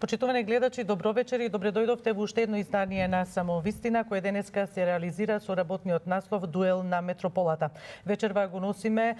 Почитувани гледачи, добро вечер и добре дојдовте во уште едно издание на Самовистина, кое денеска се реализира со работниот наслов Дуел на метрополата. Вечерва го носиме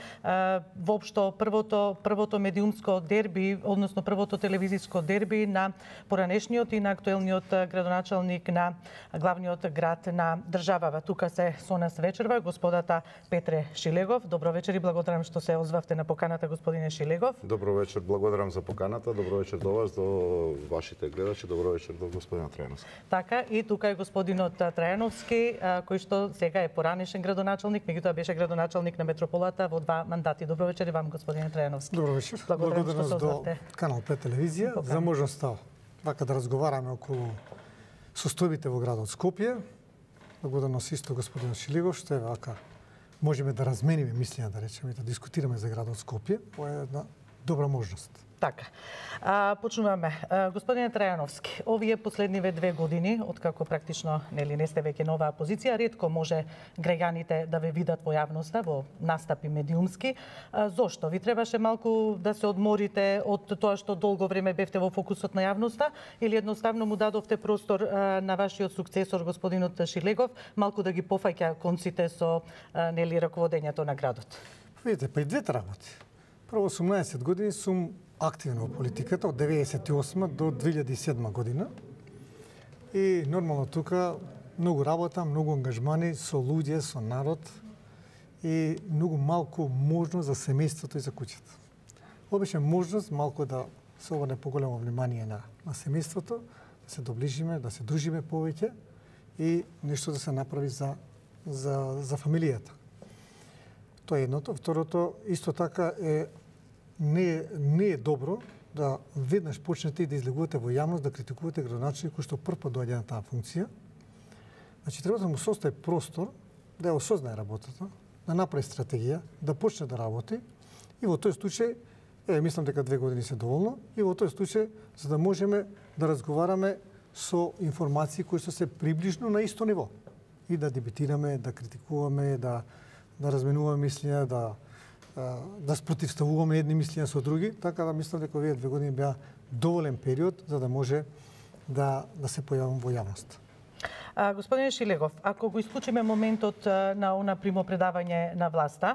воопшто првото медиумско дерби, односно првото телевизиско дерби на поранешниот и на актуелниот градоначалник на главниот град на државава. Тука се со нас вечерва господата Петре Шилегов. Добро вечер и благодарам што се озвавте на поканата, господине Шилегов. Добро вечер, благодарам за поканата. Добро вечер до вас, до вашите гледачи. Добро вечер до господинот Трајановски. Така, и тука е господинот Трајановски, кој што сега е поранешен градоначалник, меѓутоа беше градоначалник на метрополата во 2 мандати. Добро вечер и вам, господине Трајановски. Добро вечер. Благодарност до Канал 5 телевизија за можноста вака да разговараме околу состојбите во градот Скопје. Благодарност исто господинот Шилегов што е вака можеме да размениме мислења, да речеме, да дискутираме за градот Скопје. Ова е една добра можност. Така. Почнуваме. Господине Трајановски, овие последниве 2 години, откако практично не сте веќе нова позиција, ретко може граѓаните да ве видат во јавноста, во настапи медиумски. Зошто? Ви требаше малку да се одморите од тоа што долго време бевте во фокусот на јавноста или едноставно му дадовте простор на вашиот сукцесор, господинот Шилегов, малку да ги пофаќа конците со раководењето на градот? Видите, па и двете работи. Прво 18 години сум активно во политиката од 98 до 2007 година. И нормално тука многу работа, многу ангажмани со луѓе, со народ и многу малку можност за семејството и за куќата. Обичам можност малку да се обрне поголемо внимание на семејството, да се доближиме, да се дружиме повеќе и нешто да се направи за фамилијата. Тоа е едното. Второто, исто така не е добро да веднаш почнете и да излегувате во јавност, да критикувате градоначалник кој што првпат доаѓа на таа функција. Значи, треба да му состави простор, да ја осознае работата, да направи стратегија, да почне да работи и во тој случај, мислам дека 2 години се доволно, и во тој случај, за да можеме да разговараме со информации кои што се приближно на исто ниво и да дебатираме, да критикуваме, да разменуваме мислења, да спротивставуваме едни мислења со други, така да мислам дека овие 2 години беа доволен период за да може да се појавам во јавност. Господине Шилегов, ако го исклучиме моментот на она примопредавање на власта,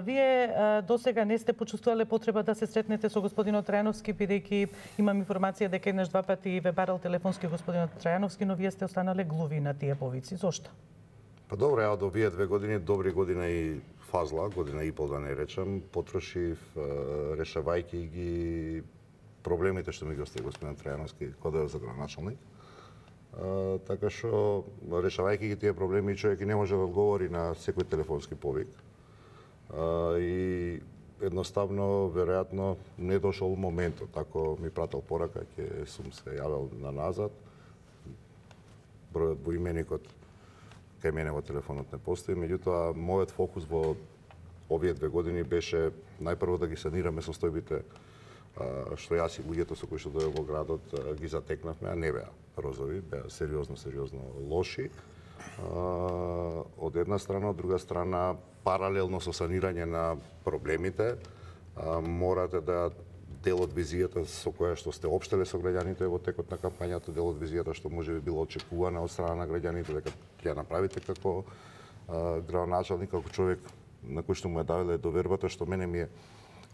вие досега не сте почувствувале потреба да се сретнете со господинот Трајановски, бидејќи имам информација дека еднаш 2 пати ве барал телефонски господинот Трајановски, но вие сте останале глуви на тие повици. Зошто? Па добро, ја од овие 2 години, добри година и фазла, година и пол да не речам, потрошив решавајќи ги проблемите што ми ги остави господин Трајановски кога за градоначалник. Така што решавајќи ги тие проблеми, човек и не може да одговори на секој телефонски повик. И едноставно, веројатно, не дошол моментот. Ако ми пратил порака, ќе сум се јавил на назад. Бројот во именикот кај мене во телефонот не постои, меѓутоа мојот фокус во овие 2 години беше најпрво да ги санираме состојбите што јас и луѓето со кои што дојдов во градот ги затекнавме, а не беа розови, беа сериозно лоши. Од една страна, од друга страна, паралелно со санирање на проблемите, морате да дел од визијата со која што сте општеле со граѓаните во текот на кампањата, дел од визијата што можеби било очекувана од страна на граѓаните дека ќе ја направите како градоначалник, како човек на кој што му е давале довербата, што мене ми е,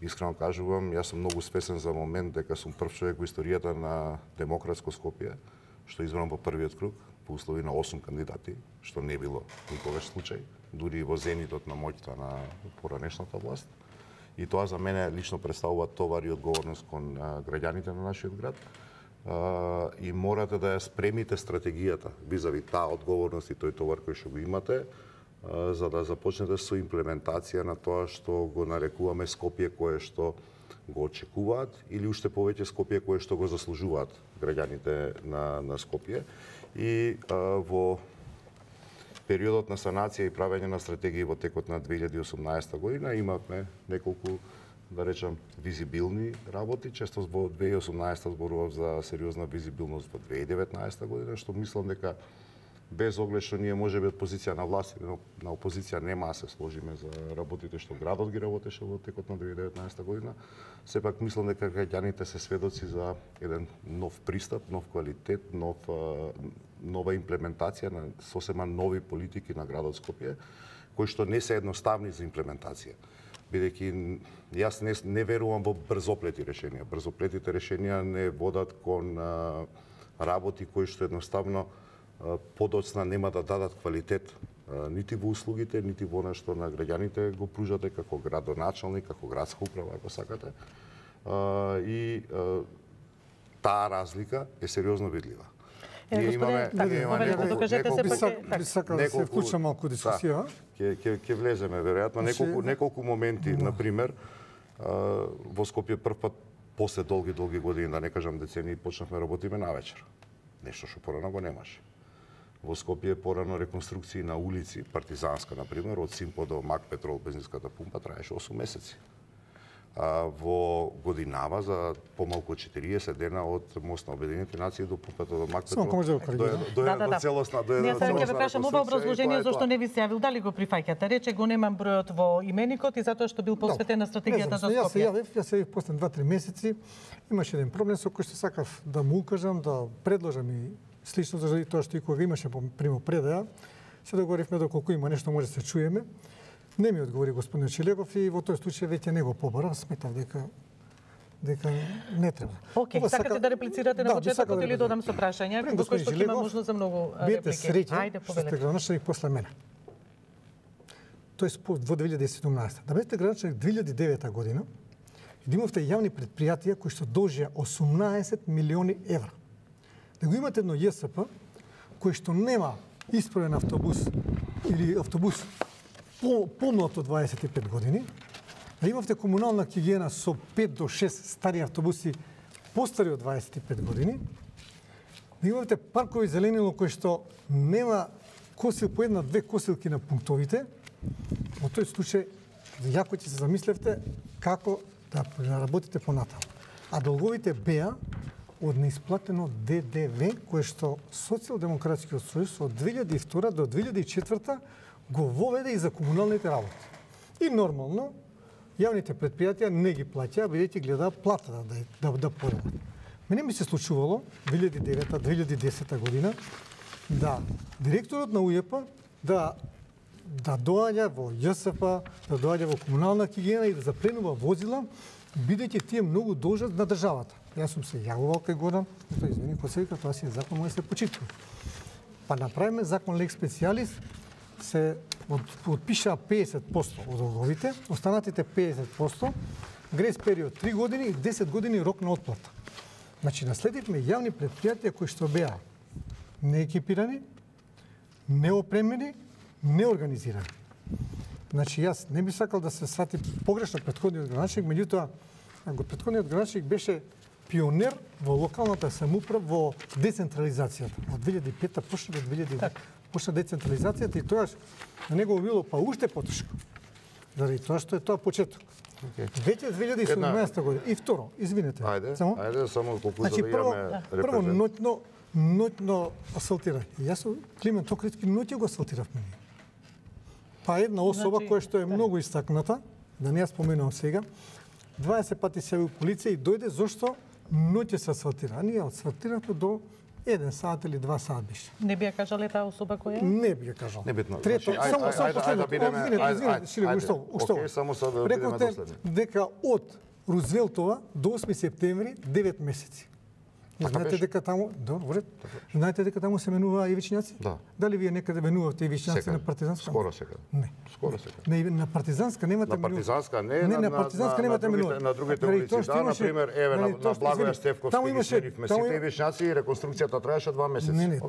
искрено кажувам, јас сум многу свесен за момент дека сум прв човек во историјата на демократско Скопје, што е избран во првиот круг, по услови на 8 кандидати, што не било никогаш случај, дури и во зенитот на моќта на поранешната власт. И тоа за мене лично представува товар и одговорност кон граѓаните на нашиот град. И морате да ја спремите стратегијата визави таа одговорност и тој товар кој што го имате, за да започнете со имплементација на тоа што го нарекуваме Скопје кое што го очекуваат или уште повеќе Скопје кое што го заслужуваат граѓаните на Скопје. И во периодот на санација и правење на стратегии во текот на 2018 година имавме неколку, да речам, визибилни работи. Често во 2018 зборував за сериозна визибилност во 2019 година, што мислам дека без оглед што ние можеби од позиција на власт или на опозиција нема да се сложиме за работите што градот ги работеше во текот на 2019 година, сепак мислам дека граѓаните се сведоци за еден нов пристап, нов квалитет, нова имплементација на сосема нови политики на градот Скопје, кои што не се едноставни за имплементација. Бидејќи јас не верувам во брзоплети решенија. Брзоплетите решенија не водат кон работи кои што едноставно подоцна нема да дадат квалитет нити во услугите, нити во она што на граѓаните го пружате како градоначалник, како градска управа, ако сакате. И таа разлика е сериозно видлива. Ние имаме би сакал да се вклучам малку дискусија. Ќе влеземе веројатно неколку моменти, на пример, во Скопје прв пат после долги години, да не кажам децении, почнавме работиме навечер. Нешто што порано го немаше. Во Скопје порано реконструкции на улици, Партизанска, на пример, од Симпо до Мак Петрол, бензинската пумпа, траеше 8 месеци. Во годинава за помалку од 40 дена од мост на Обединените нации до пумпата до Мак Петрол. До целосна Ние сега ќе ве прашам ова образложение зошто не ви се јавил, дали го прифаќате? Рече го немам бројот во именикот и затоа што бил посветен на стратегијата за Скопје. Јас се јавив после 2-3 месеци. Имаше еден проблем со кој што сакав да му укажам, да предложам и слично заради тоа што и кога имаше примопредаја, се договоривме доколку има нешто може да се чуеме. Не ми одговори господин Челегов и во тој случај веќе не го побара, сметав дека не треба. Океј, сакате да реплицирате на почетокот или додам со прашања, во кој што има можност за многу реплики. Биете среќни што сте градоначалник после мене. Тоест во 2017. Да бете градоначалник 2009 година и да имавте јавни предпријатија кои што должија 18 милиони евра. Да го имате едно ЈСП кој што нема исправен автобус или автобус помлад од 25 години, да имавте комунална хигиена со 5 до 6 стари автобуси постари од 25 години, да имавте паркови зеленило кој што нема косил по една-две косилки на пунктовите, во тој случај јако ќе се замислевте како да работите понатаму. А долговите беа од неисплатено ДДВ, кое што Социјалдемократскиот сојуз од 2002 до 2004 го воведе и за комуналните работи. И нормално, јавните предпријатија не ги плаќаа, бидејќи глеdaa плата да поредат. Мене ми се случувало 2009-2010 година да директорот на УЈП да доаѓа во ЈСП, да доаѓа во комунална хигиена и да запленува возила, бидејќи тие многу должат на државата. Јас сум се јавувал кај Горан, тој извини, кој се вика, тоа си е закон, може да се почитува. Па направиме закон лек специјалис, се отпишаа 50% од долговите, останатите 50%, грес период 3 години и 10 години рок на отплата. Значи, наследивме јавни предпријатија кои што беа неекипирани, неопремени, неорганизирани. Значи, јас не би сакал да се свати погрешно претходниот градоначалник, меѓутоа, претходниот градоначалник беше пионер во локалната самоуправа во децентрализацијата. Од 2005 почна до 2009 почна децентрализацијата и тоаш на него било па уште потешко. Заради тоа што е тоа почеток. Веќе 2017 година. И второ, извинете. Ајде, само колку значи, да имаме прво ноќно асфалтира. Јас Климент Охридски ноќе го асфалтиравме. Па една особа која што е многу истакната, да не ја споменувам сега, 20 пати се јави полиција и дојде зошто ноќе се асфалтира. А ние асфалтиравме до 1 сат или 2 сат беше. Не би ја кажале таа особа која е? Не би ја кажал. Небитно. Трето, само последно. Извинете, Шиле, ушто? Само сад да бидеме доследни. Дека од Рузвелтова до 8 септември 9 месеци. Знаете дека таму, добре. Знаете дека таму се менува ивичњаци? Да. Дали вие некаде менувате ивичњаци на Партизанска? Скоро секаде. Не. Скоро секаде. Не, на Партизанска немате менува. На Партизанска не, на Партизанска немате менува. На другите улици, да, на пример, еве на Благоја Стефковски ги сменивме сите ивичњаци и реконструкцијата траеше 2 месеци. Не,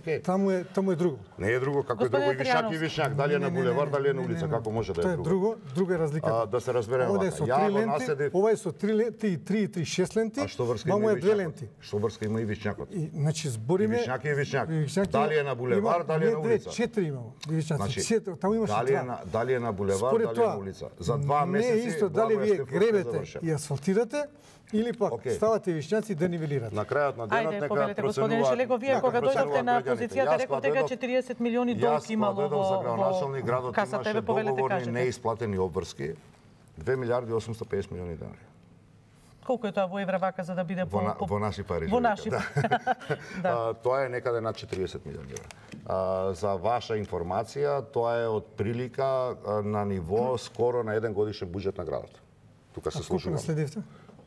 таму е друго. Не е друго, како е друго ивичњак и ивичњак, дали е на булевар, дали е на улица, како може да е друго. Тоа е друго, друга е разликата. Да се разбереме. Ова е со 3 ленти, ова е со 3 ленти, 3 и 6 ленти, мамо е 2 ленти. Што врска има има и Вишњакот. Значи збориме Вишњак и Вишњак. Дали е на булевар, дали е на улица? 4 имало. Вишњаци, таму имаше 2. Дали е на булевар, дали е на улица? За 2 месеци не е исто дали вие гребете и асфалтирате или пак ставате вишњаци да нивелирате. На крајот на денот нека повелете, господин Шелего, вие кога дојдовте на позицијата реков дека 40 милиони долг имало во касата, еве повелете кажете. Неисплатени обврски 2 милиарди 850 милиони денари. Колку е тоа во евра вака за да биде во наши пари? Во наши. Да. Тоа е некаде над 40 милиони евра. За ваша информација, тоа е од прилика на ниво скоро на еден годишен буџет на градот. Тука се слушувам.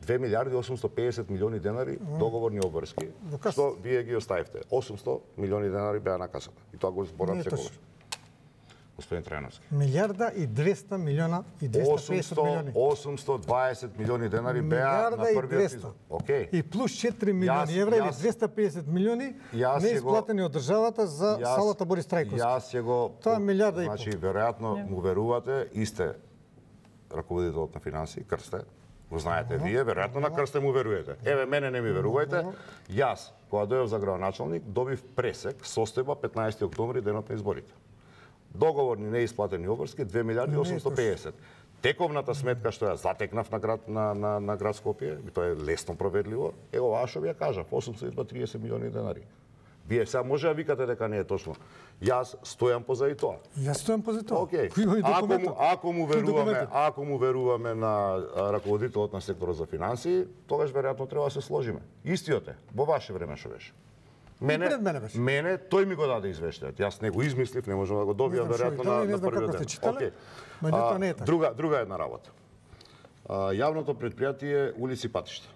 2 милиарди 850 милиони денари договорни обврски, што вие ги оставивте. 800 милиони денари беа на касата. И тоа го зборам секогаш. Господин Трајановски. Милиарда и 200 милиона и 250 милиони. 820 милиони денари беа на првиот излог. Окей. И плюс 4 милиони евра или 250 милиони неисплатени од државата за салата Борис Трајковски. Јас ќе го... Тоа е милиарда и пол. Значи, веројатно му верувате, исте раководителот на финансии, Крсте, го знаете вие, веројатно на Крсте му верувате. Еве, мене не ми верувајте. Јас, кога дојдов за градоначалник, добив пресек, состојба 15 октомври, денот на изборите. Договорни неисплатени обврски 2 милиарди 850. Тековната сметка што ја затекнав на град Скопје, тоа е лесно проверливо, е оваа што ви ја кажав, 830 милиони денари. Вие сега може да викате дека не е точно. Јас стојам позади тоа. Јас стојам позади тоа. Океј. Ако му веруваме на раководителот на секторот за финансии, тогаш веројатно треба да се сложиме. Истиот е, во ваше време што беше. Мене тој ми го даде извештајот. Јас не го измислив, не можам да го добијам веројатно на првиот ден. Океј. Друга една работа. Јавното претпријатие улици и патишта.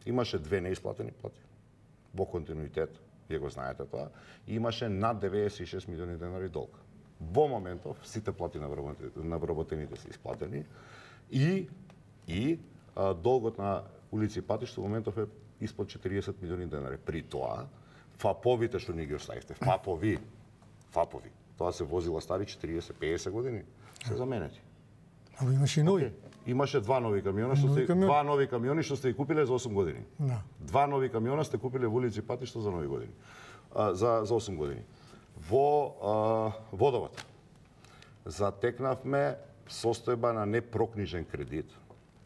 Имаше 2 неисплатени плати во континуитет. Вие го знаете тоа, и имаше над 96 милиони денари долг. Во моментов сите плати на вработените се исплатени и долгот на улици и патишта во моментов е испод 40 милиони денари. При тоа, ФАПовите што ни ги оставивте, ФАПови, тоа се возила стари 40-50 години, се заменети. Ама имаше и нови. Имаше 2 нови камиона што сте ги купиле за 8 години. 2 нови камиона сте купиле во улици и патишта за нови години. За 8 години. Во водовод затекнавме состојба на непрокнижен кредит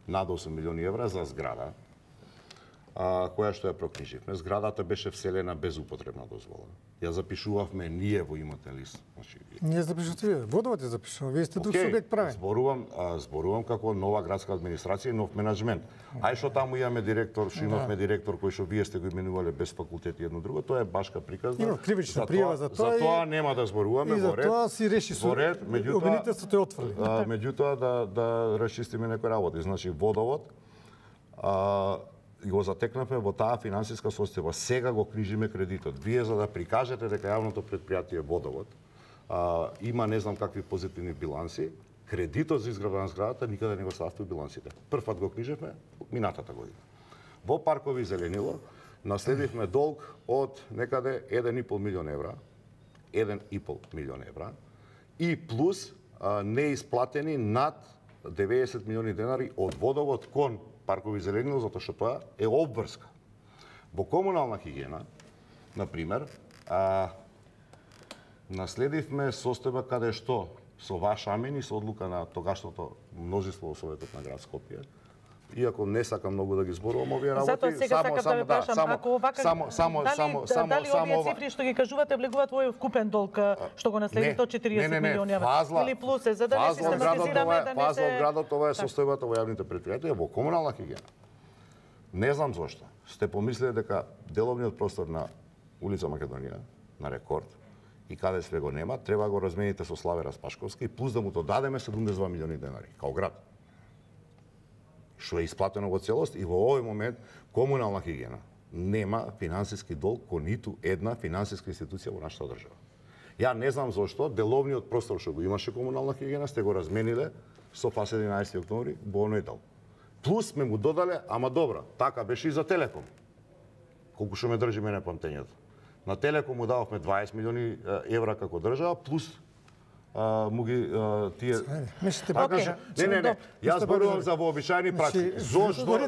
над 8 милиони евра за зграда, која што ја прокниживме. Зградата беше вселена без употребна дозвола. Ја запишувавме ние во имотен лист. Ние запишувате вие, водовод ја запишува, вие сте друг субјект правен. Зборувам како нова градска администрација и нов менеджмент. Ај што таму имаме директор, што имавме директор кој што вие сте го именувале без факултети едно друго, тоа е башка приказна. Има кривична пријава за тоа. За тоа нема да зборуваме, во ред. И за тоа си реши судот. Обвинителството е отфрли. Меѓутоа да расчистиме некои работи. Значи водовод го затекнавме во таа финансиска состојба. Сега го книжиме кредитот. Вие за да прикажете дека јавното претпријатие водовод има не знам какви позитивни биланси, кредитот за изградба на зградата никаде не го ставте во билансите. Прв пат го книжевме минатата година. Во паркови зеленило наследивме долг од некаде 1,5 милион евра, 1,5 милион евра и плюс неисплатени над 90 милиони денари од водовод кон паркови зеленило, затоа што тоа е обврска. Во комунална хигиена, например, наследивме состојба каде што со ваш амен и со одлука на тогашното мнозинство во Советот на град Скопје, иако не сакам многу да ги зборувам овие работи, затоа сега сакам да ве прашам, ако овака дали овие цифри што ги кажувате влегуваат во вкупен долг што го наследите од 40 милиони евра или плюс е за да не систематизираме да не се градот, ова е состојбата во јавните претпријатија во комунална хигиена. Не знам зошто сте помислиле дека деловниот простор на улица Македонија на Рекорд и каде све го нема, треба го размените со Славе Распашковски и плюс да му додадеме 72 милиони денари као град. Што е исплатено во целост и во овој момент комунална хигиена нема финансиски долг кон ниту една финансиска институција во нашата држава. Ја не знам зошто деловниот простор што го имаше комунална хигиена сте го размениле со ФАС 11 октомври во оној дел. Плюс сме му додале, ама добро, така беше и за Телеком. Колку што ме држи мене памтењето. На Телеком му дававме 20 милиони евра како држава, плюс му ги тие Мислите така Окей. не. Јас зборувам за вообичаени пракси. Зошто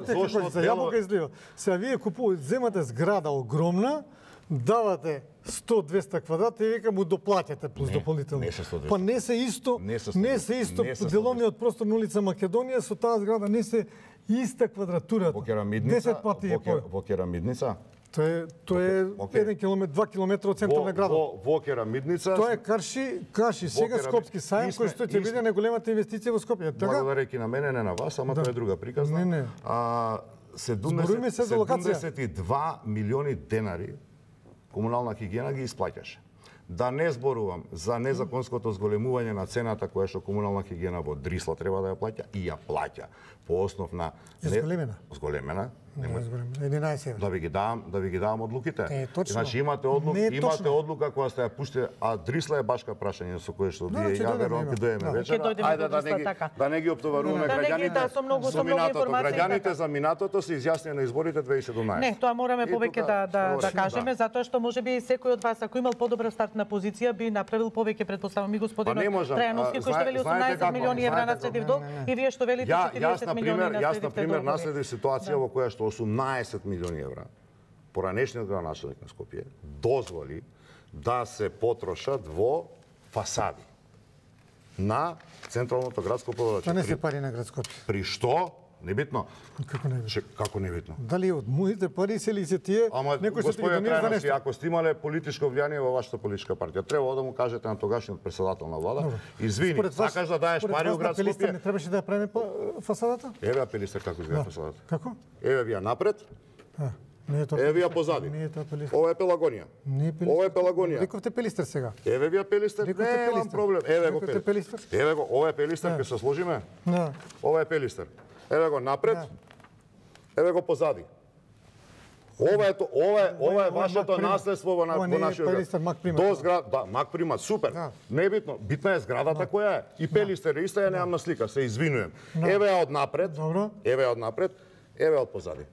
за јаболка излива. Сега вие купувате, земате зграда огромна, давате 100-200 квадрата и века му доплаќате плюс дополнително. не се 100-200. Па не се исто, Не се 100-200. не се исто Не се 100-200. деловниот простор на улица Македонија со таа зграда не се иста квадратурата. Во керамидница, 10 пати е во керамидница. Тоа е Окей. 1 километар, 2 километра од центар на градот. Во керамидница. Тоа е Карши, сега Скопски сајм, кој што ќе биде најголемата инвестиција во Скопје. Така? Благодареки на мене, не на вас, ама тоа е друга приказна. Не. 72 милиони денари комунална хигиена ги исплаќаше. Да не зборувам за незаконското зголемување на цената која што комунална хигиена во Дрисла треба да ја плаќа и ја плаќа по основ на Зголемена. Зголемена. Не е зголем, 11 евро. Да ви ги давам одлуките. Точно. Значи имате одлука која сте ја пуштите, а Дрисла е башка прашање со кое што вие ја верувам ќе дојдеме вечера. Ајде да не ги оптоваруваме граѓаните. Со многу информации. Граѓаните за минатото се изјаснија на изборите 2017. Не, тоа мораме повеќе да кажеме, затоа што можеби секој од вас ако имал подобра стартна позиција би направил повеќе, претпоставам и господинот Трајановски кој што вели 18 милиони евра наследив долг и вие што велите 40 милиони наследив. Јас на пример наследив ситуација во која што 18 милиони евра поранешниот градоначалник на Скопје дозволи да се потрошат во фасади на централното градско подолје. Тоа не се пари на град Скопје. При што? Небитно. Како не битно? Како небитно? Дали од моите пари се ли се тие, некој што ти ги донира за нешто? Ако сте имале политичко влијание во вашата политичка партија, треба да му кажете на тогашниот председател на влада, извини, сакаш да даеш пари во град Скопје? Не требаше да ја правиме фасадата? Еве Пелистер како изгледа фасадата. Како? Еве ви ја напред. Не е тоа. Еве ја позади. Не е тоа Пелистер. Ова е Пелагонија. Не е Пелистер. Ова е Пелагонија. Рековте Пелистер сега. Еве ви ја Пелистер. Немам проблем. Еве го Пелистер. Еве го, ова е Пелистер, ќе се сложиме? Да. Ова е Пелистер. Еве го напред. Еве го позади. Ова е вашето наследство во нашиот град. До зграда, да, Мак Примат, супер. Небитно, битна е зградата која е. И Пелистер иста ја немам на слика, се извинувам. Еве ја од напред. Еве ја од напред. Еве од позади.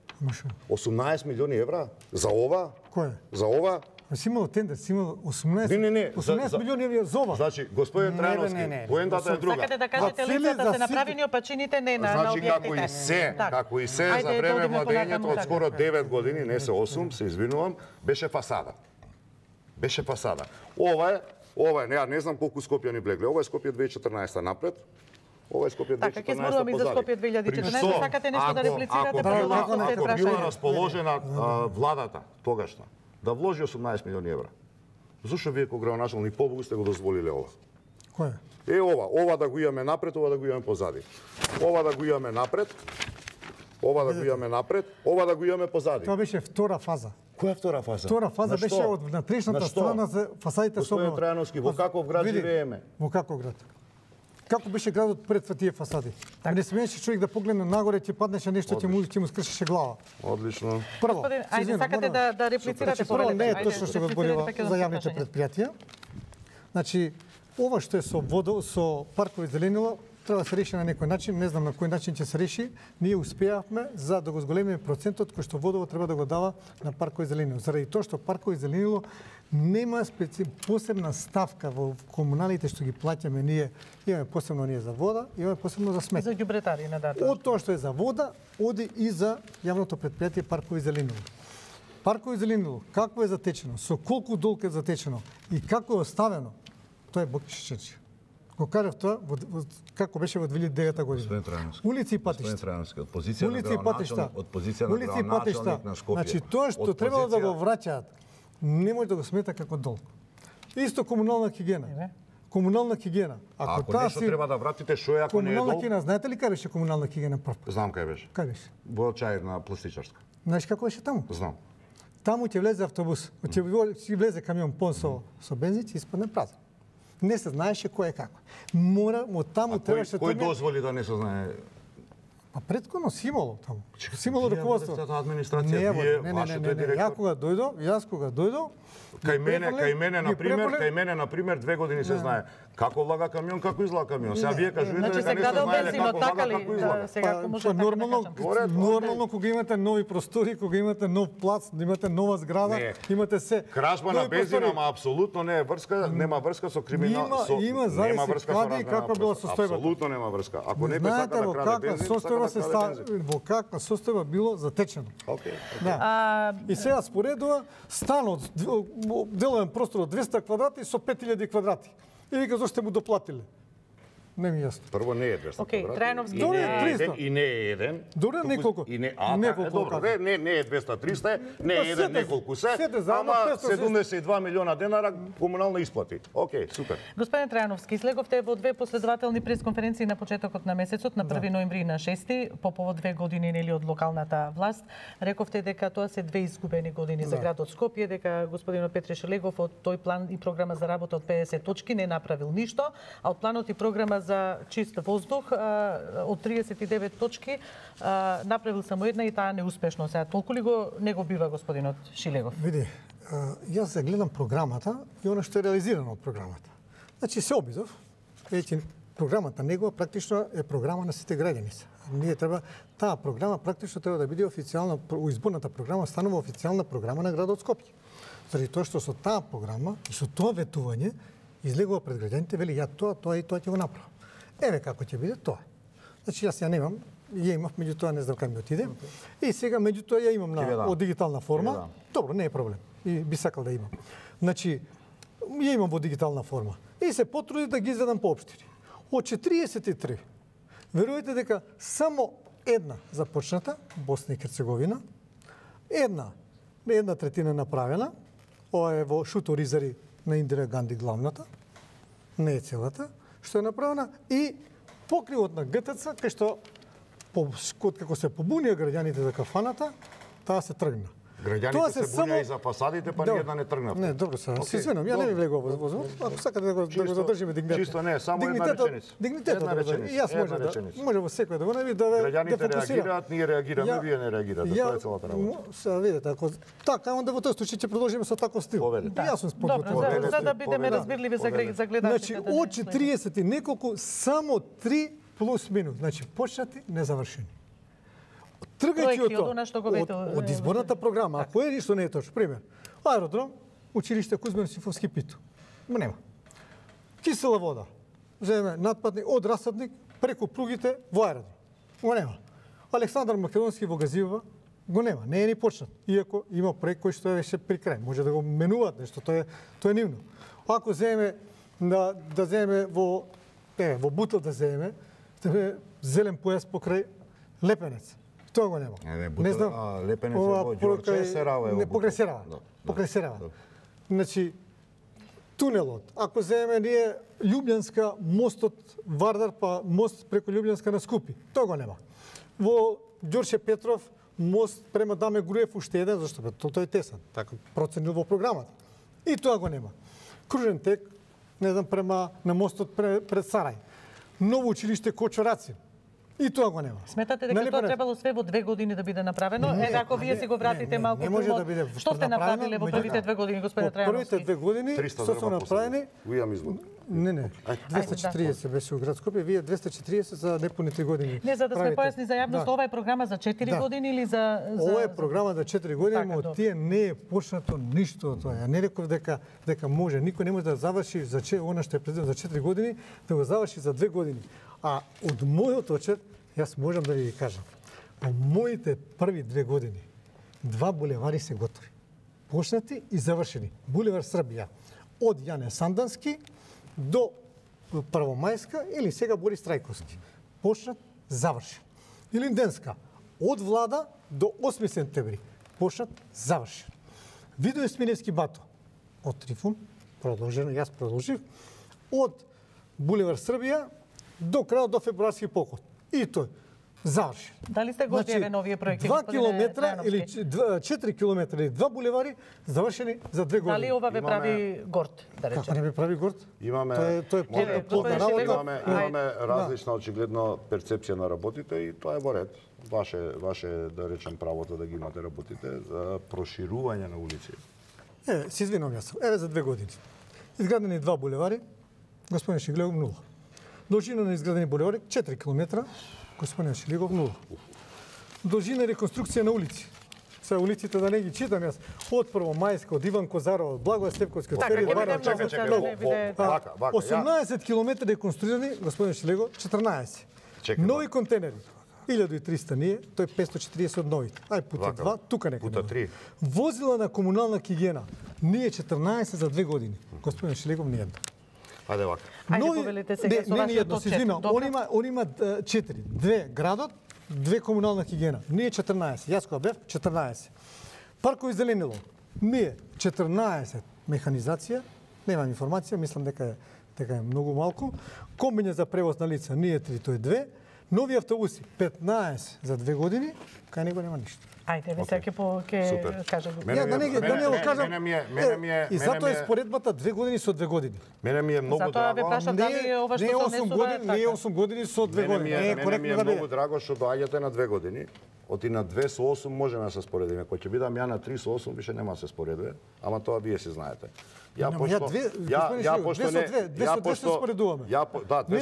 18 милиони евра за ова? Кој? За ова? Си имал тендер, си имал 18 милиони евра за ова. Значи, господин Трајановски, поентата е друга. Сакате да кажете лицата се направени опачините не на објектите. Значи, како и се за време владењето од скоро 9 години, не се 8, се извинувам, беше фасада. Беше фасада. Ова е, не знам колку Скопјани влегле. Ова е Скопје 2014 напред. Ова е Скопје 2014 позади. Така, ќе зборуваме и за Скопје 2014, сакате нешто да реплицирате по Ако била расположена владата тогашна, да вложи 18 милиони евра. Зошто вие кога градоначалник побогу сте го дозволиле ова? Кој? Ова да го имаме напред, ова да го имаме позади. Ова да го имаме напред, ова да го имаме напред, ова да го имаме позади. Тоа беше втора фаза. Која втора фаза? Втора фаза беше од внатрешната страна за фасадите со Господин Трајановски, во каков град живееме? Во каков град? Како беше градот пред тие фасади? Не смееше човек да погледне нагоре, ќе паднеше нешто, ќе му скршеше глава. Одлично. Прво, ајде сакате да реплицирате прво не е точно што го зборува за јавните предпријатија. Значи, ова што е со паркови зеленила, треба да се реши на некој начин, не знам на кој начин ќе се реши. Ние успеавме за да го зголемиме процентот кој што водово треба да го дава на паркови зеленило. Заради тоа што паркови зеленило нема посебна ставка во комуналите што ги плаќаме ние. Имаме посебно ние за вода, имаме посебно за смет. За ѓубретари на дата. Од тоа што е за вода, оди и за јавното предпријатие паркови зеленило. Паркови зеленило, како е затечено, со колку долг е затечено и како е оставено, тоа е Бокишичечи. Го кажав тоа како беше во 2009 година. Улици и патишта. Од позиција на градоначалник на Скопје. Значи тоа што требало да го враќаат, не може да го смета како долг. Исто комунална хигиена. Комунална хигиена. Ако нешто треба да вратите, што е ако не е долг? Комунална хигиена, знаете ли кај беше комунална хигиена прв? Знам кај беше. Кај беше? Во чај на пластичарска. Знаеш како беше таму? Знам. Таму ќе влезе автобус, ќе влезе камион пон со бензин, ќе испадне празен. Не се знаеше кој е како. Мора, од таму требаше... Кој дозволи да не се знае? Па претходно си имало таму. Си имало руководство. Администрација, вие, вашите директор. Јас кога дојдов, Кај мене на пример 2 години се знае како влага камион, како излага камион. Сега вие кажувате дека не се знае како влага, како излага. Сега може така нормално кога имате нови простори, кога имате нов плац, имате нова зграда, имате се. Кражба на бензин, ама апсолутно не е врска, нема врска со криминал. Има зависи каде и каква била состојбата. Апсолутно нема врска. Ако не би сака да краде бензин, во каква состојба било затечено. Окей. И сега споредува станот деловен простор од 200 квадрати со 5000 квадрати. И вика зошто му доплатиле? Не ми јасно. Прво не е 200 Океј, Трајновски. и не е еден. Добре, неколку. И не, неколку. Не е 200-300, не е еден, неколку се, ама 72 милиона денара комунални исплати. Океј, супер. Господин Трајновски, слеговте во две последователни пресконференции на почетокот на месецот, на 1 ноември и на 6 по повод 2 години нели од локалната власт. Рековте дека тоа се 2 изгубени години за градот Скопје, дека господинот Петре Шелегов од тој план и програма за работа од 50 точки не направил ништо, а од планот и програма за чист воздух од 39 точки направил само една и таа неуспешно. Сега толку ли не го бива господинот Шилегов? Види, јас се гледам програмата и она што е реализирано од програмата. Значи се обидов, веќе програмата негова практично е програма на сите граѓани. Ние треба таа програма практично треба да биде официјална, изборната програма станува официјална програма на градот Скопје. Заради тоа што со таа програма и со тоа ветување излегува пред граѓаните, вели ја тоа и тоа ќе го направам. Еве како ќе биде тоа. Значи јас ја немам, ја имав, меѓутоа не знам кај ми отиде. И сега меѓутоа ја имам од дигитална форма. Добро, не е проблем. И би сакал да имам. Значи ја имам во дигитална форма. И се потрудив да ги изведам по општини. Од 43, верувате дека само една започната, Босна и Херцеговина, една третина направена, ова е во Шуто Ризари на Индира Ганди главната, не е целата, што е направена, и покривот на ГТЦ, кај што како се побунија граѓаните за кафаната, таа се тргна. Граѓаните се бунија и за фасадите, па ни една не тргнавте. Не, добро се извинам, ја не ми влегувам во возот. Ако сакате да го задржиме дигнитет. Чисто не, само една реченица. Дигнитетот и јас може во секој да го нави да граѓаните реагираат, ние реагираме, вие не реагирате. Тоа е целата работа. Сега видите, ако така, онда во тој случај ќе продолжиме со таков стил. Јас сум подготвен. За да бидеме разбирливи за гледачите. Значи, од 40 и неколку, само 3 плюс минус. Значи, почнати, незавршени. Тргајќи од изборната програма, ако е ништо не е точно, пример, аеродром, училиште Кузман Сифовски Питу. Нема. Кисела вода. Земе надпадник од расадник преку пругите во аеродром. Го нема. Александар Македонски во Газиева го нема. Не е ни почнат. Иако има проект кој што е веќе при крај. Може да го менуваат нешто, тоа е нивно. Ако земе да земе во Бутел да земе зелен појас покрај Лепенец. Тоа го нема. Не знам. Лепенец во Ѓорче, Серава е во Покрај Серава. Покрај Серава. Значи, тунелот. Ако земеме ние Љубљанска, мостот Вардар, па мост преку Љубљанска на Скупи. Тоа го нема. Во Ѓорче Петров, мост према Даме Груев уште еден, зашто тоа е тесен. Така проценил во програмата. И тоа го нема. Кружен тек, не знам, према на мостот пред Сарај. Ново училиште Кочораци. И тоа го нема. Сметате дека тоа требало све во 2 години да биде направено? Ако вие си го вратите малку помалку. Што сте направиле во првите 2 години, господине Трајановски? Првите 2 години што се направени? Ујам извод. Не. 240 беше во град Скопје, вие 240 за непуни 3 години. Не, за да сме појасни за јавност, ова е програма за 4 години или за Ова е програма за 4 години, но од тие не е почнато ништо од тоа. Ја не реков дека може, никој не може да заврши за она што е предвидено за 4 години, да го заврши за 2 години. А од мојот очет, јас можам да ви кажам, во моите први 2 години, 2 булевари се готови. Почнати и завршени. Булевар Србија, од Јане Сандански до Првомајска или сега Борис Трајковски. Почнат, завршен. Илинденска, од Влада до 8 сентември. Почнат, завршен. Видој Смилевски бато, од Трифун, продолжено, јас продолжив, од Булевар Србија до крајот до февруарски поход. И тој. завршен. Дали сте го одјавени овие проекти? 2 километра или 4 километра или 2 булевари завршени за 2 години. Дали ова ве прави горд, да речем? Како не ме прави горд? Имаме плодна работа. Имаме различна очигледно перцепција на работите и тоа е во ред. Ваше да речем правото да ги имате работите за проширување на улици. Се извинувам јас. Еве за 2 години. Изградени 2 булевари, господин Шиглегов 0. Должина на изградени булевари 4 километра, господин Шиглегов 0. Должина реконструкција на улици. Се улиците да не ги читам јас. Од Првомајска, од Иван Козаров, од Благоја Степковска, Фери Двара, Вака, 18 километри реконструирани, господин Шиглегов 14. Нови контейнери. 1300 ние, тој 540 од новите. Ај пута 2, тука некаде. Пута 3. Возила на комунална хигиена. Ние 14 за 2 години. Господин Шилегов не една. Ајде вака. Ајде повелите сега со вашето едно, се извинувам. Он има 4. 2 градот, 2 комунална хигиена. Ние 14. Јас кога бев 14. Паркови зеленило. Ние 14 механизација. Немам информација, мислам дека е многу малку. Комбиња за превоз на лица. Ние 3, тој 2. Нови автобуси 15 за 2 години, кај него нема ништо. Ајде, ве сега ќе кажам. Да не го кажам. И затоа е споредбата 2 години со 2 години. Мене ми е многу драго. Затоа ве прашам дали ова што се однесува не е 8 години со 2 години. Не е коректно да биде. Многу драго што доаѓате на 2 години. Оти на 2 со 8 можеме да се споредиме. Кога ќе бидам ја на 3 со 8 више нема да се споредиме, ама тоа вие си знаете. Ја пошто не се споредуваме. Не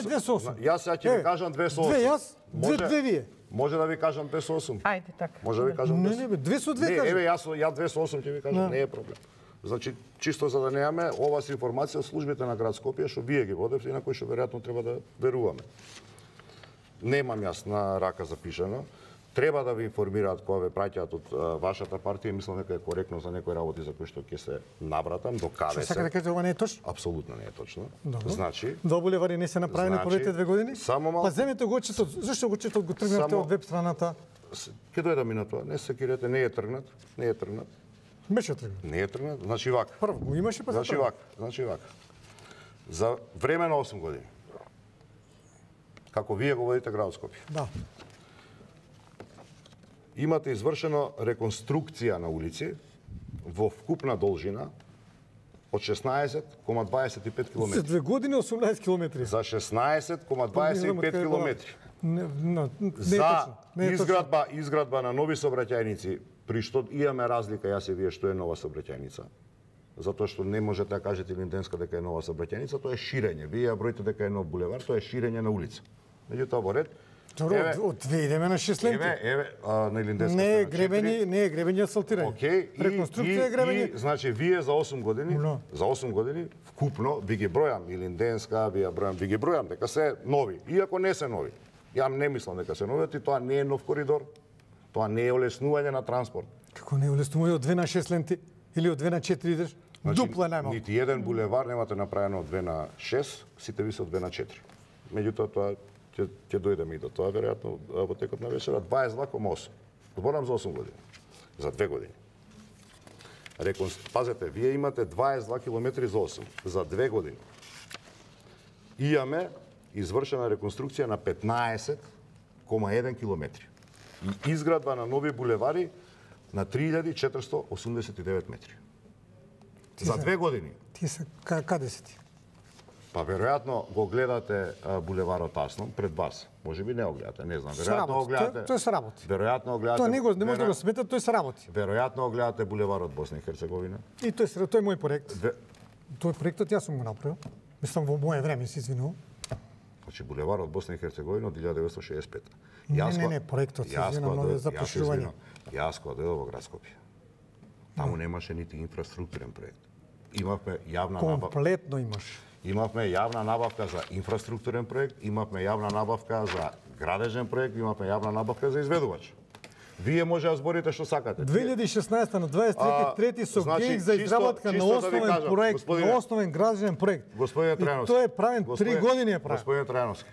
2 со 8. Јас сега ќе ви кажам 2 со 8. 2 јас, 2 вие. Може да ви кажам 2 со 8. Ајде така. Може да ви кажам 2. Не, 2 со 2 кажам. Еве ја 2 со 8 ќе ви кажам, не е проблем. Значи, чисто за да немаме ова се информација од службите на град Скопје што вие ги водевте и на кои што веројатно треба да веруваме. Немам јас на рака запишано. Треба да ви информираат кога ве праќаат од вашата партија, мислам дека е коректно за некои работи за кои што ќе се набратам, до каде се. Што сака да кажете, ова не е точно? Апсолутно не е точно. Добро. Значи, 2 булевари не се направени првите 2 години? Само малку. Па земете го четот. Зашто го четот го тргнавте од веб страната? Ќе дојдам и на тоа. Не се секирете, не е тргнат. Беше тргнат. Не е тргнат. Значи вака. Прво го имаше па Значи вака. За време на 8 години. Како вие го водите град Скопје. Да. Имате извршено реконструкција на улици во вкупна должина од 16,25 км. За 2 години 18 км. За 16,25 км. Не е Изградба на нови сообраќајници, при што имаме разлика јас и вие што е нова сообраќајница. Затоа што не можете да кажете Линденска дека е нова сообраќајница, тоа е ширење. Вие ја броите дека е нов булевар, тоа е ширење на улица. Меѓутоа во ред. Од 2 идеме на 6 ленти. На Илинденска не е гребење асфалтирање. Реконструкција е гребење. Значи вие за 8 години, вкупно ви ги бројам Илинденска, ви ги бројам дека се нови, иако не се нови. Ја не мислам дека се нови, и тоа не е нов коридор. Тоа не е олеснување на транспорт. Како не е олеснување од 2 на 6 ленти или од 2 на 4 идеш? Дупло најмалку. Нити еден булевар немате направено од 2 на 6, сите ви се од 2 на 4. Меѓутоа тоа ќе дојдеме и до тоа, веројатно, во текот на вечера, 22,8. Зборам за 8 години. За 2 години. Пазете, вие имате 22 километри за 8. За 2 години. Имаме извршена реконструкција на 15,1 километри. И изградба на нови булевари на 3489 метри. За 2 години. Ти се каде си ти? Па веројатно го гледате булеварот Аслом пред вас. Можеби не го гледате, не знам. Веројатно го гледате. Тој се работи. Веројатно го гледате. Тоа не може да го сметат, тој се работи. Веројатно го гледате булеварот Босна и Херцеговина. И тој е мој проект. Тој проектот јас сум го направил. Мислам во моје време, се извинувам. Значи булеварот Босна и Херцеговина од 1965. Не, проектот се извинувам за проширување. Јас кога дојдов во град Скопје. Таму немаше нити инфраструктурен проект. Имавме јавна набавка. Комплетно имаш. Имавме јавна набавка за инфраструктурен проект, имавме јавна набавка за градежен проект, имавме јавна набавка за изведувач. Вие може да зборите што сакате. 2016 на 23 со гејк за изработка на основен проект, на основен градежен проект. Господине Трајановски. Тој е правен 3 години е правен. Господине Трајановски.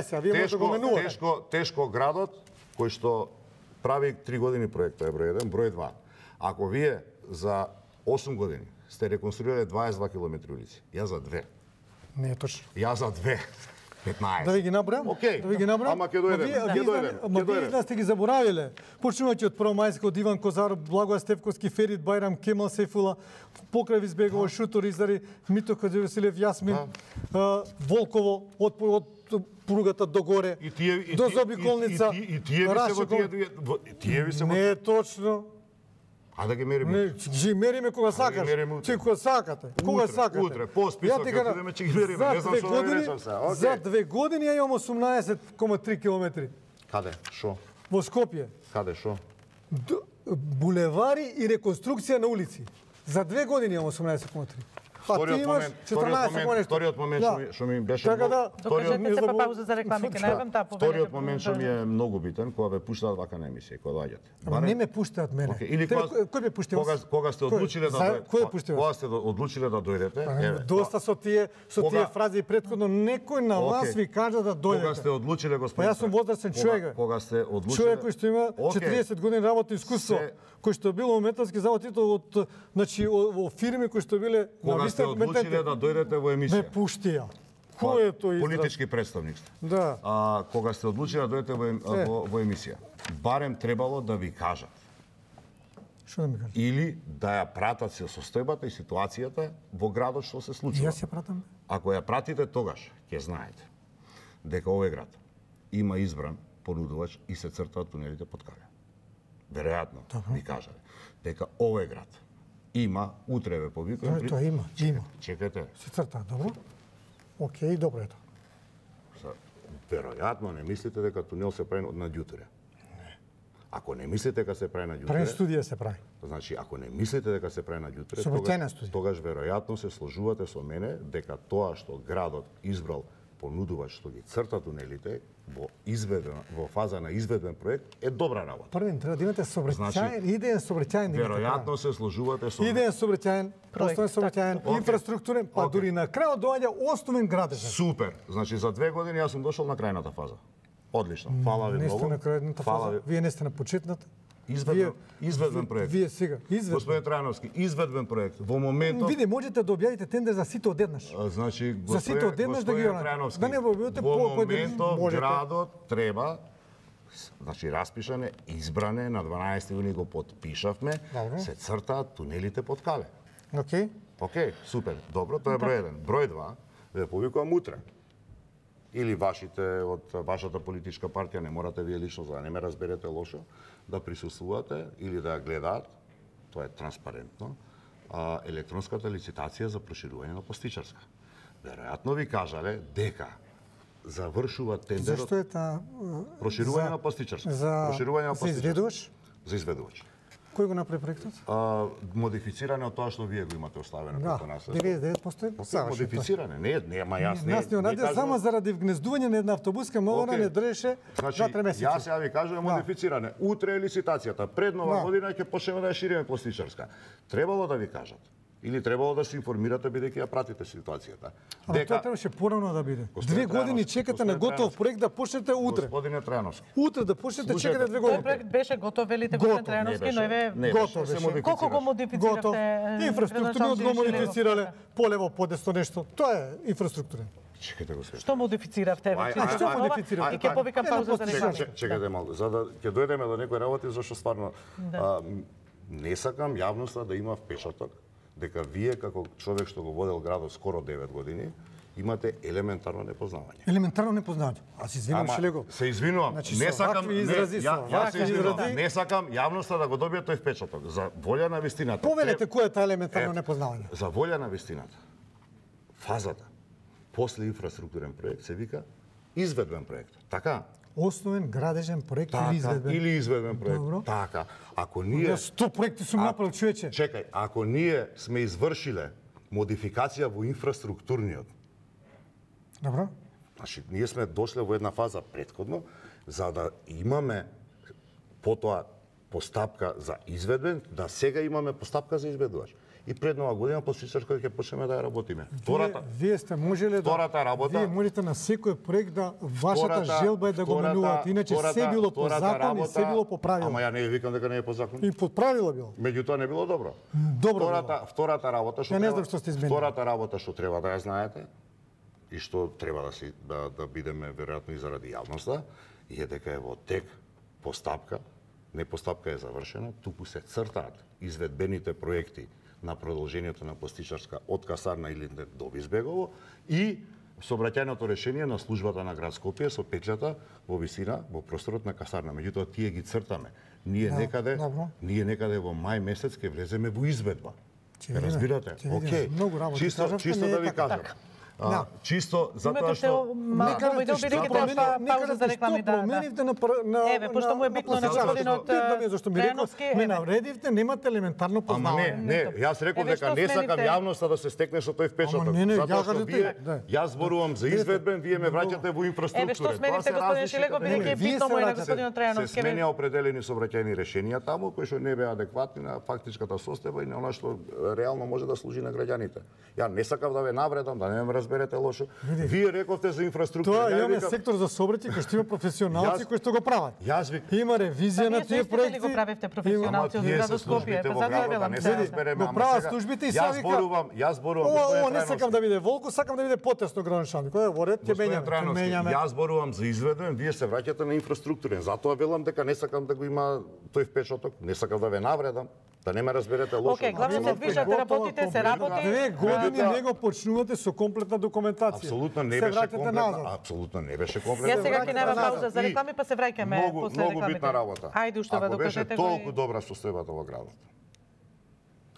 Сега вие може да го менувате. Тешко градот кој што прави 3 години проект, тоа е број 1, број 2. Ако вие за 8 години сте реконструирале 22 километри улици, ја за 2. Не е точно. Ја за 2. 15. Да ви ги набројам? Окей. Да ви ги набројам? Ама ќе дојдем. Вие да сте ги заборавиле. Почнувајќи од Првомајска, од Иван Козаров, Благоја Стефковски, Ферит Бајрам, Кемал Сефула, Покрај Визбегова, Шутор Изари, Мито Каđевасилев, Јасмин, Волково, од пругата до горе, до Заобиколница. И тие ви се во тие ви се во... Не е точно. А да ги мериме. Не, ги мериме кога сакаш. Че кога сакате. Кога сакате. Утре, по список, ќе одиме, ќе ги мериме. Не знам што да ви речам сега. За 2 години ја имам 18,3 километри. Каде? Шо? Во Скопје. Каде? Шо? Булевари и реконструкција на улици. За 2 години имам 18,3. А ти имаш 14,1. Вториот момент што ми беше... Така да, Докажете се па пауза за реклами, ке најавам таа повеќе. Вториот момент што ми е многу битен, кога ве пуштаат вака на емисија, кога доаѓате. Ама не ме пуштаат мене. Кој ме пушти вас? Кога сте одлучиле да дојдете. Кој пушти вас? Кога сте одлучиле да дојдете. Доста со тие фрази претходно некој на вас ви кажа да дојдете. Кога сте одлучиле, господин. Па јас сум возрастен човек. Кога сте одлучиле. Човек кој што има 40 години работно искуство, кој што бил во металски завод, од значи во фирми кои што биле на вистина компетентни. Да дојдете во емисија. Ме пуштија. Кој е тој израз? Политички представник сте. Да. Кога сте одлучили да дојдете во емисија, барем требало да ви кажат. Што да ми кажат? Или да ја пратат се состојбата и ситуацијата во градот што се случува. Јас ја пратам. Ако ја пратите, тогаш ќе знаете дека овој град има избран понудувач и се цртаат тунелите под Кале. Веројатно ви кажале дека овој град има, утре ве повикувам. Тоа има. Чекате. Се црта, добро? Океј, добро е тоа. Веројатно не мислите дека тунел се прави на ѓутре. Не. Ако не мислите дека се прави на ѓутре... Прави студија се прави. Значи, ако не мислите дека се прави на ѓутре, тогаш веројатно се сложувате со мене дека тоа што градот избрал понудувач што ги црта тунелите во фаза на изведбен проект е добра работа. Првен треба да имате сообраќаен, идеен сообраќаен. Веројатно се сложувате со идеен сообраќаен, основен сообраќаен, инфраструктурен, па дури на крајот доаѓа основен градежен. Супер. Значи за 2 години јас сум дошол на крајната фаза. Одлично. Фала ви многу. Не сте на крајната фаза. Вие не сте на почетната. Изведбен проект. Вие сега, изведбен. Господин Трајановски, изведбен проект. Во моментот... Види, можете да објавите тендер за сите одеднаш. Значи, за сите одеднаш да ги Трајановски, да не го објавите во моментот градот треба, значи распишане, избране, на 12 јуни го подпишавме, се цртаат тунелите под Кале. Океј, супер. Добро, тоа е број 1. Број 2, ве повикувам утре. Или вашите од вашата политичка партија, не морате вие лично, за да не ме разберете лошо, да присуствувате или да гледаат, тоа е транспарентно, електронската лицитација за проширување на Постичарска. Веројатно ви кажале дека завршува тендерот... Зашто е таа... Проширување на Постичарска. За изведувач? За изведувач. Кој го направи проектот? Модифициране од тоа што вие го имате оставено како нас. 99% модифициране. Нема јас не. Нас не онаде само заради вгнездување на една автобуска многона не држеше 2-3 месеци. Јас ја ви кажувам модифициране. Утре е лицитацијата. Пред нова година ќе почнеме да ја шириме Постичарска. Требало да ви кажат. Или требало да се информирате бидејќи ја пратите ситуацијата. Ама тоа требаше порано да биде. 2 години чекате на готов проект да почнете утре. Господине Трајановски. Утре да почнете чекате 2 години. Тој проект беше готов, велите господин Трајановски, но еве готов беше. Колку го модифициравте? Инфраструктурно го модифицирале, полево подесто нешто. Тоа е инфраструктурен. Чекайте го све. Што модифициравте вече? Што модифициравте? И ќе повикам пауза за реклами. Чекайте малку, за да ќе дојдеме до некои работи зашто стварно не сакам јавноста да има впечаток дека вие како човек што го водел градот скоро 9 години имате елементарно непознавање. Елементарно непознавање. Аз извинувам Шелего. Се извинувам. Значи, не сакам изрази. Не сакам јавноста да го добие тој впечаток. За волја на вистината. Повелете кој е таа елементарно непознавање. За волја на вистината. Фазата после инфраструктурен проект се вика изведбен проект. Така? Основен градежен проект или изведбен. Или изведбен проект. Добро. Така. Ако ние 100 проекти сум направил, човече. Чекај, ако ние сме извршиле модификација во инфраструктурниот. Добро. Значи, ние сме дошле во една фаза претходно за да имаме потоа постапка за изведбен, да сега имаме постапка за изведувач. И пред нова година Постичарска ќе почнеме да ја работиме. Вие сте можеле Вие можете на секој проект да вашата желба е да го менувате, иначе се било по закон и се било по правило. Ама ја не викам дека не е по закон. И по правило било. Меѓутоа не било добро. Добро. Втората работа што не знам што сте изменили. Втората работа што треба да ја знаете и што треба да бидеме веројатно и заради јавноста, е дека е во тек постапка, не постапка е завршена, туку се цртаат изведбените проекти на продолжението на Постичарска од Касарна или до Визбегово и сообраќајното решение на службата на град Скопје со петлята во висина во просторот на Касарна. Меѓутоа тие ги цртаме. Ние некаде во мај месец ќе влеземе во изведба. Разбирате? Океј. Чисто да ви кажам. Чисто затоа што пауза за реклами променивте на еве пошто му е битно на господинот зашто ми реков ме навредивте, немате елементарно познавање. Не, јас реков дека не сакам јавноста да се стекне со тој впечаток. Затоа што јас зборувам за изведбен, вие ме враќате во инфраструктура. Еве што сменивте господин Шилегов, бидејќи е битно му е на господинот Трајановски. Се сменија определени сообраќајни решенија таму кои што не беа адекватни на фактичката состојба и на она што реално може да служи на граѓаните. Ја не сакав да ве навредам, да не ме разберете лошо. Вие рековте за инфраструктура. Тоа имаме сектор за сообраќај кој што има професионалци кои што го прават. Има ревизија на тие проекти. Вие го правевте професионалци од градот Скопје, па затоа велам се. Го прават службите и сега Јас зборувам. Ова не сакам да биде волку, сакам да биде потесно граншан. Кој е во ред ќе менјаме. Јас зборувам за изведен, вие се враќате на инфраструктурен. Затоа велам дека не сакам да го има тој впечаток, не сакам да ве навредам. Да не ме разберете лошо. Океј, главно се движат, работите, се работи. 2 години не го почнувате со комплетна документација. Апсолутно не беше комплетна. Апсолутно не беше комплетна. Ја сега ќе нема пауза за реклами, па се враќаме после рекламите. Многу битна работа. Ајде уште да докажете го. Ако беше толку добра состојбата во градот.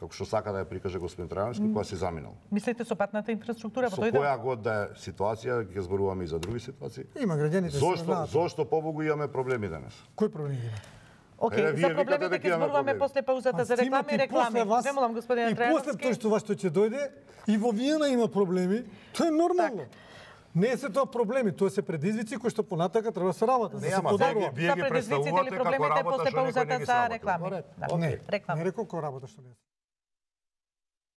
Како што сака да ја прикаже господин Трајановски, кога си заминал. Мислите со патната инфраструктура, со која год да е ситуација, ќе зборуваме и за други ситуации. Има граѓаните. Зошто побогу имаме проблеми денес? Кои проблеми има? Океј, за проблемите ќе зборуваме после паузата за реклами и реклами. Ве молам господин Трајановски. И после тоа што вас што ќе дојде, и во Виена има проблеми, тоа е нормално. Не е се тоа проблеми, тоа се предизвици кои што понатака треба да се работат. Не, ама вие ги представувате како работа после паузата за реклами. Не рекол како работа што не е.